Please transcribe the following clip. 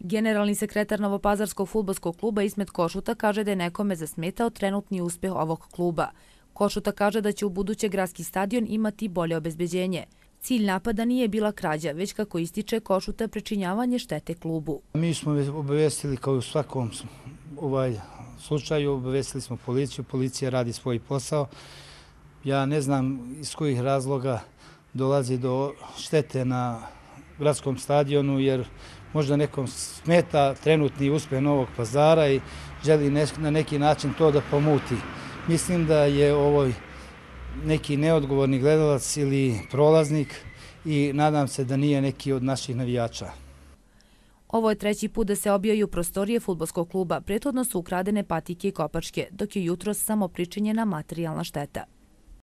Generalni sekretar Novopazarskog fudbalskog kluba Ismet Košuta kaže da je nekome zasmetao trenutni uspeh ovog kluba. Košuta kaže da će u buduće gradski stadion imati bolje obezbeđenje. Cilj napada nije bila krađa, već kako ističe Košuta pričinjavanje štete klubu. Mi smo obavestili kao u svakom slučaju, obavestili smo policiju, policija radi svoj posao. Ja ne znam iz kojih razloga dolazi do štete na gradskom stadionu, jer možda nekom smeta trenutni uspeh Novog Pazara i želi na neki način to da pomuti. Mislim da je ovo neki neodgovorni gledalac ili prolaznik i nadam se da nije neki od naših navijača. Ovo je treći put da se obijaju prostorije fudbalskog kluba. Prethodno su ukradene patike i kopačke, dok je jutros samo pričinjena materijalna šteta.